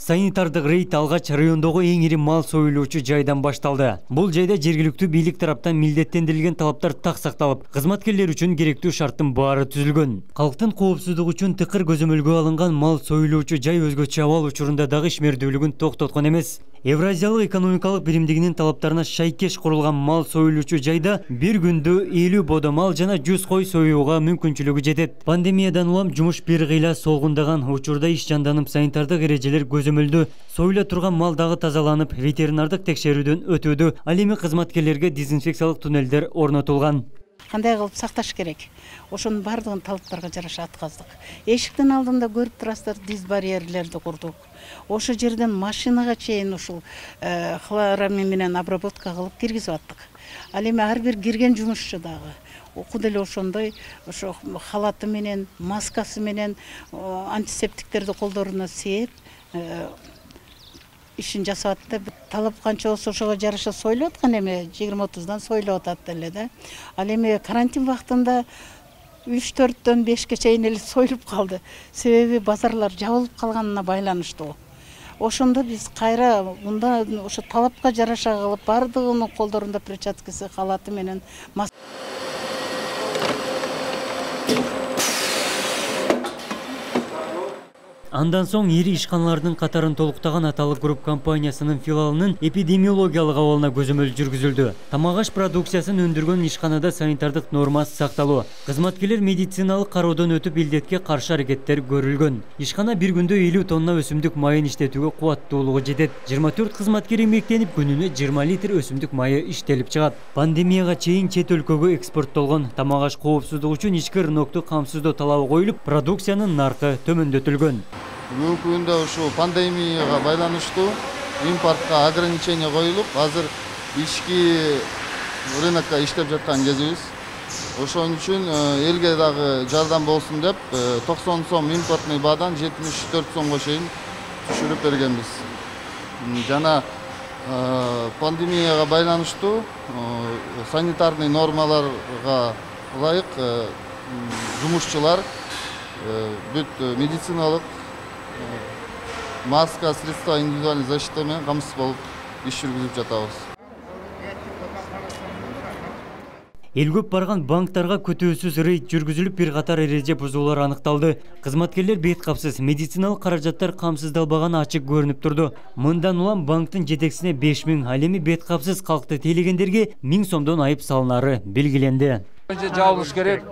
Санитардык рейд алгач райондогу эң ири мал союлуучу жайдан башталды. Бул жайда жергиликтүү бийлик тараптан милдеттендирилген талаптар так сакталып, кызматкерлер үчүн керектүү шарттын баары түзүлгөн. Калктын коопсуздугу үчүн тыкыр көзөмөлгө алынган мал союлуучу жай өзгөчө абал учурунда дагы ишмердүүлүгүн токтоткон эмес. Евразиялык экономикалык биримдигинин талаптарына шайкеш курулган мал союлуучу жайда бир күндө 50 бодо мал жана 100 кой союуга мүмкүнчүлүгү жетет. Пандемиядан улам жумуш бир кыйла солгундаган учурда иш жанданып, санитардык эрежелер көзөмөлдө, союла турган мал дагы тазаланып, ветеринардык текшерүүдөн өтүүдө. Ал эми кызматкерлерге дезинфекциялык туннелдер орнотулган. Кандай кылып сакташ керек? Ошонун бардыгын талаптарга жараша атказдык. Эшиктин алдында көрүп турасыздар, диз барьерлерди курдук. Ошо жерден машинага чейин ушул хлорамин менен обработка кылып киргизип аттык. Ал эми ар бир кирген жумушчу дагы окуду эле ошондой ошо халаты менен, маскасы менен антисептиктерди колдоруна сээп ишин жасап атты. Талап канча болсо ошого жараша союлуп аткан эми 20-30дан союлуп атат эле да. Ал эми карантин вактында 3-4дөн 5ке чейин эле союлуп калды. Себеби базарлар жабылып калганына байланыштуу. Ошондо биз кайра мында ошо талапка жараша кылып бардыгынын колдорунда перчаткасы, халаты менен Андан соң ири ишканалардын катарын толуктаган Аталык групп компаниясынын филиалынын эпидемиологиялык абалына көзөмөл жүргүзүлдү. Тамак-аш продукциясын өндүргөн ишканада санитардык норма сакталуу. Кызматкерлер медициналык кароодон өтүп илдетке каршы аракеттер көрүлгөн. Ишкана бир күндө 50 тонна өсүмдүк майын иштетүүгө кубаттуулугу жетет. 24 кызматкер эмгектенип, күнүнө 20 литр өсүмдүк майы иштелип чыгат. Пандемияга чейин чет өлкөгө экспорттолгон тамак-аш коопсуздугу үчүн ички рынокту камсыздоо талабы коюлуп, продукциянын наркы төмөндөтүлгөн. Бүгүнкү күндө ушу пандемияга байланыштуу импортко ограничение коюлуп, азыр ички рынокко иштеп жаткан кезибиз. Ошон үчүн элге дагы жардам болсун деп 90 сом импортный баадан 74 сомго чейин түшүрүп бергенбиз. Жана пандемияга байланыштуу санитарный нормаларга ылайык жумушчулар бүт медициналык маска, средства индивидуальной защиты менен камсыз болуп иш жүргүзүп жатабыз. Эл көп барган банктарга көтөөсүз рейд жүргүзүлүп, бир катар эреже бузуулар аныкталды. Кызматкерлер бет капсыз, медициналык каражаттар камсыздалбаганы ачык көрүнүп турду. Мындан улам банктын жетекчисине 5000, ал эми бет капсыз калкты тейлегендерге 1000 сомдон айып салынары белгиленди. Жабылыш керек.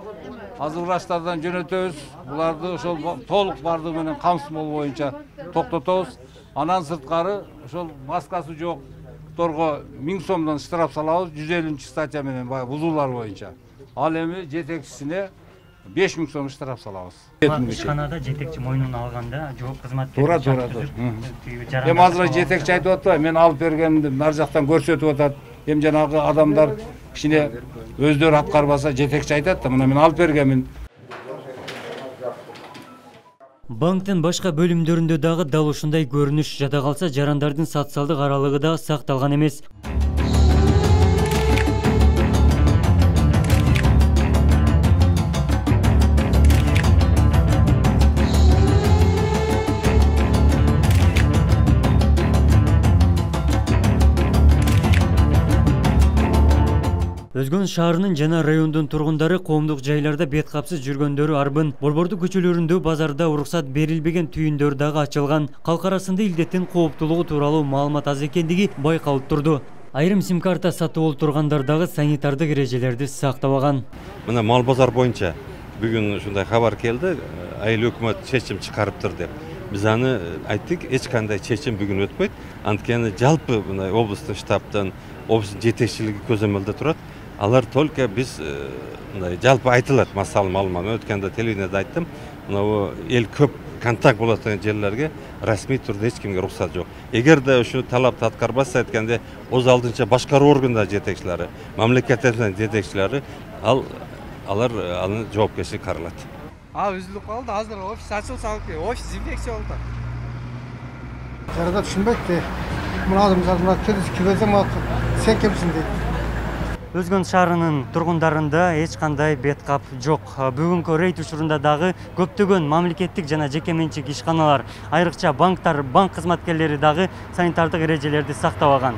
Азыр врачтардан жөнөтөбүз. Буларды ошол толук бардыгы менен камсыз боюнча токтотобуз. Анан сырткары ошол маскасы жокторго 1000 сомдон штраф салабыз, 150 статья менен бузуулар боюнча. Ал эми жетекчисине 5000 сом штраф салабыз. Ишканада жетекчи мойнуна алганда жооп кызматкер. Туура. Эми азыр жетекчи айтып атпайбы, мен алып бергенди нар жактан көрсөтүп атат. Эми жанагы адамдар кичине өздөрү аткарбаса жетекчи айтат да, мына мен алып бергенмин. Банктын башка бөлүмдөрүндө дагы дал ушундай көрүнүш жада калса, жарандардын социалдык аралыгы да сакталган эмес. Өзгөн шаарынын жана райондун тургундары коомдук жайларда бет капсыз жүргөндөрү арбын, Борборду көчөлөрүндө базарда уруксат берилбеген түйүндөр дагы ачылган. Калк арасында илдеттин кооптуулугу тууралуу маалымат аз экендиги байкалып турду. Айрым сим-карта сатып олтургандар дагы санитардык эрежелерди сактабаган. Мына мал базар боюнча бүгүн ушундай кабар келди, айыл өкмөт чечим чыгарыптыр деп. Биз аны айттык, эч кандай чечим бүгүн өтпөйт. Анткени жалпы мына облустук штабтан, облустун жетекчилиги көзөмөлдө турат. Алар только биз жалпы айтылат, масал маалымат. Өткөндө телевидениеде айттым, мына эл көп контакт болот деген жерлерге расмий турда эч кимге уруксат жок. Эгерде ушу талапты аткарбаса айтканда, өз алдынча башкаруу органдар жетекчилери, мамлекеттин жетекчилери алар аны жоопкерчилик каралат. Үзүлүп калды, азыр офис ачылса, офис инфекция болду. Жарада түшүнбөйт. Мына адам мына келип келсем, сен кимсиң дейт. Өзгөн шаарынын тургундарында эч кандай бет кап жок. Бүгүнкү рейд учурунда дагы көптөгөн мамлекеттик жана жеке менчик ишканалар, айрыкча банктар, банк кызматкерлери дагы санитардык эрежелерди сактабаган.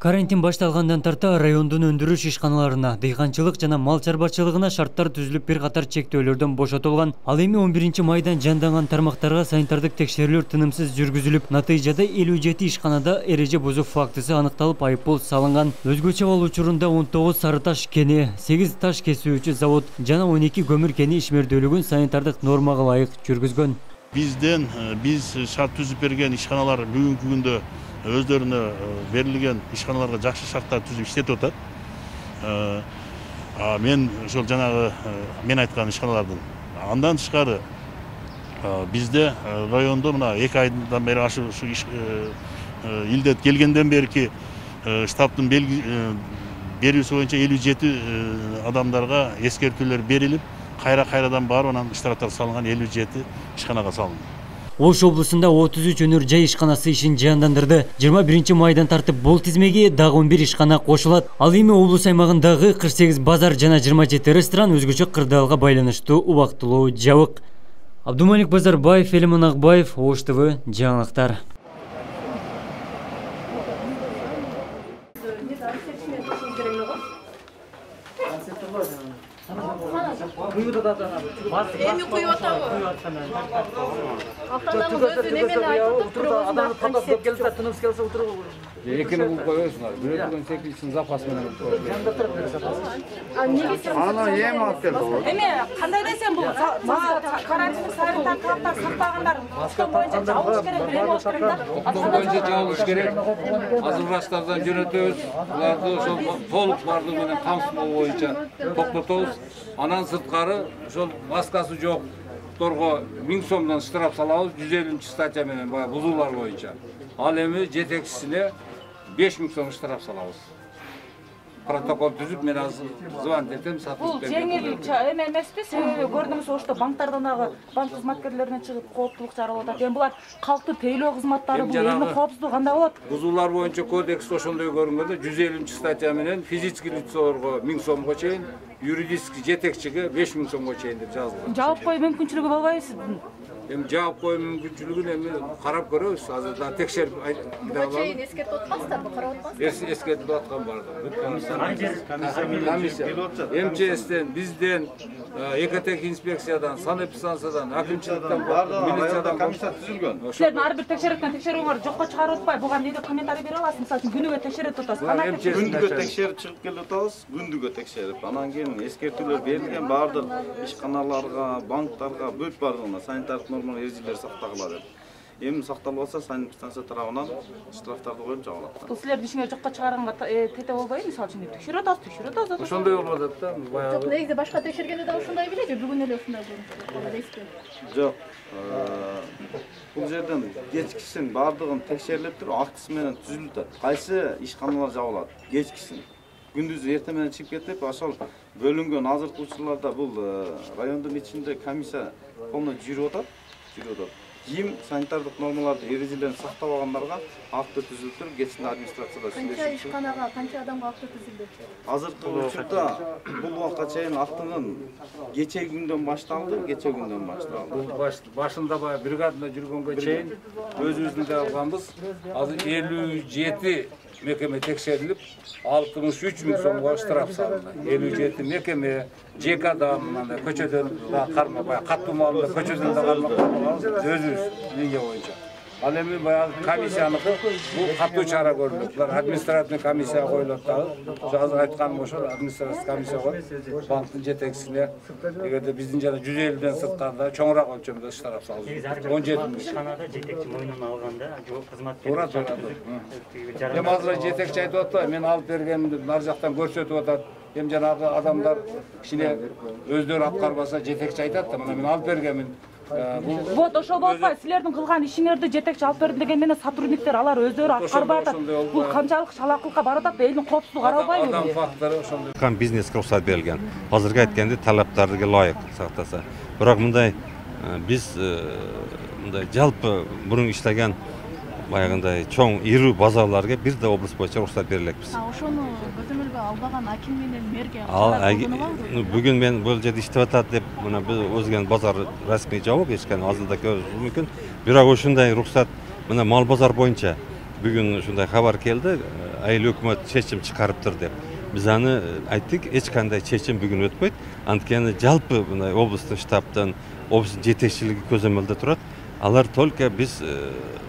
Карантин башталгандан тарта райондун өндүрүш ишканаларына, дыйканчылык жана мал чарбачылыгына шарттар түзүлүп бир катар чектөөлөрдөн бошотулган. Ал эми 11 майдан жанданган тармактарга санитардык текшерүүлөр тынымсыз жүргүзүлүп, натыйжада 57 ишканада эреже бузуу фактысы аныкталып, айыппул салынган. Өзгөчө ал учурунда 19 сары таш кени, 8 таш кесүүчү завод жана 12 көмүр кени ишмердүүлүгүн санитардык нормага ылайык жүргүзгөн. Биз шарт түзүп берген ишканалар бүгүнкү күндө өздөрүнө берилген ишканаларга жакшы шарттар түзүп иштетип атат. Мен ошол жанагы мен айткан ишканалардын андан тышкары бизде райондо мына 2 айдан бери ушу илдет келгенден берки штабтын берүүсү боюнча 57 адамдарга эскертүүлөр берилип, кайрадан барып анан штрафтар салынган 57 ишканага салынды. Ош облусунда 33 өнөр жай ишканасы ишин жандандырды. 21 майдан тартып бул тизмеге дагы 11 ишкана кошулат. Ал эми облус аймагындагы 48 базар жана 27 ресторан өзгөчө кырдаалга байланыштуу убактылуу жабык. Абдумалик Базарбаев, Элиман Акбаев, Ош ТВ, жаңылыктар. Эми куюп атабы? Автономдун өзү немени айтып туруп, адамды тандап көп келсе, тыныс келсе отуруп. Экини бул коесуңар. Бирөөдөн секилчисин запас менен коюп. А неге сен? Аны эми алып келди. Эми кандай десем бул карантин санитар талаптар сактагандар ошол боюнча жабылыш керек, эме болуш керек да. Ошол боюнча жабылыш керек. Азыр врачтардан жөнөтөбүз. Буларды ошол толук бардыгы менен камсыз боюнча токтотобуз. Анан сырткары ошол маскасы жокторго 1000 сомдон штраф салабыз, 150 статья менен баягы бузуулар боюнча. Ал эми жетекчисине 5000 сом штраф салабыз. Протокол түзүп, мен азыр звонить этем, бул жеңил эме эмеспи? Себеби көрдүңүз, ошто банктардан дагы банк кызматкерлерине чыгып кооптулук чаралап атат. Эми булар калкты тейлөө кызматтары, бул элдин коопсуздугу кандай болот? Бузуулар боюнча кодекс ошондой көрүнгөндө 150 статья менен физический лицолорго 1000 сомго чейин, юридический жетекчиге 5000 сомго чейин деп жазылган. Жаап кою мүмкүнчүлүгү болбойбу? Эми жаап кою мүмкүнчүлүгүн эми карап көрөбүз. Азыр да текшерип буга чейин эскертип атпасыздарбы, карап атпасыздарбы? Эскертип аткан бар. Комиссия, МЧСтен, бизден, экотех инспекциядан, санэпидстанциядан, акимчиликтен, милициядан комиссия түзүлгөн. Силердин ар бир текшерткөн текшерүүңөр жокко чыгарып атпай, буга эмне деп комментарий бере аласыз? Мисалы үчүн күнүгө текшерип атасыз. Күндүгө текшерип чыгып келип атабыз, күндүгө текшерип. Анан кийин эскертүүлөр берилген баардык ишканаларга, банктарга бүт бардыгына санитардык нормалар эрежелери сактагыла деп. Эми сакталбаса санэпидстанция тарабынан штрафтарды коюп жабылат. Бул силердин ишиңер жокко чыгарганга тете болбойбу? Мисалы үчүн текшерип атасыз. Ошондой болуп атат да. Жок, негизи башка текшергенде да ушундай беле же бүгүн эле ушундай болду? Жок. Бул жерден кечкисин баардыгын текшерилип туруп, актысы менен түзүлүп атат. Кайсы ишканалар жабылат? Кечкисин. Күндүз эртең менен чыгып кетип, ошол бөлүнгөн азыркы учурларда бул райондун ичинде комиссия полный жүрүп атат. Ким санитардык нормаларды, эрежелерин сактабагандарга акты түзүлүп туруп, кечинде администрацияда сүйлөшүп. Канча ишканага, канча адамга акты түзүлдү? Азыркы учурда бул убакка чейин актынын кечеги күндөн башталды. Бул башында баягы бригадада жүргөнгө чейин өзүбүздүн да алганбыз. Азыр 57 мекеме текшерилип, 63.000 сомго штраф салынды. 57 мекеме, ЖЭК адам, көчөдөн да карма, баягы каттуу маалында көчөдөн да карма өзүбүз линия боюнча. Ал эми баягы комиссияныкы бул каттуу чара көрүлөт. Булар административный комиссия коюлат дагы. Азыр айтканым ошол административный комиссия коюп, банктын жетекчисине эгерде биздин жана 150ден сырткарда чоңураак өлчөмдө штраф салды. 17 ишканада жетекчи мойнуна алганда, жок кызматкер. Туура. Эми азыр жетекчи айтып атпайбы, мен алып бергенимди нар жактан көрсөтүп атат. Эми жанагы адамдар кичине өздөрү аткарбаса жетекчи айтат да, мына мен алып бергенмин. Вот ошол болбой, силердин кылган ишиңерди жетекчи алып берди деген менен сотрудниктер алар өздөрү аткарбай атат. Бул канчалык чалакылыкка барып атат да, элдин коопсуздугу каралбайбы? Адам фактору ошондой. Бизнеске уруксат берилген. Азыркы айткандай талаптарга ылайык сактаса. Бирок мындай биз мындай жалпы мурун иштеген баягындай чоң ирүү базарларга бир да облус боюнча уруксат бере элекпиз. Ошону көзөмөлгө албаган аким менен мэрге бүгүн мен бул жерде иштеп атат деп мына биз өзгөнүн базар расмий жабык, эч кандай азырда көрүшү мүмкүн. Бирок ушундай уруксат мына мал базар боюнча бүгүн ушундай кабар келди, айыл өкмөт чечим чыгарыптыр деп. Биз аны айттык, эч кандай чечим бүгүн өтпөйт. Анткени жалпы мындай облустун штабтан, облустун жетекчилиги көзөмөлдө турат. Алар только биз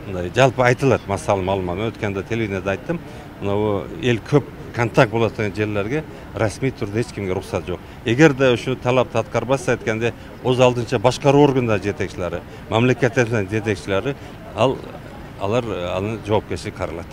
мындай жалпы айтылат, масал маалымат. Өткөндө телевидениеде айттым. Мына эл көп контакт болот деген жерлерге расмий түрдө эч кимге уруксат жок. Эгерде ушу талапты аткарбаса айтканда, өз алдынча башкаруу органдар жетекчилери, мамлекеттин жетекчилери алар аны жоопкерчилик каралат.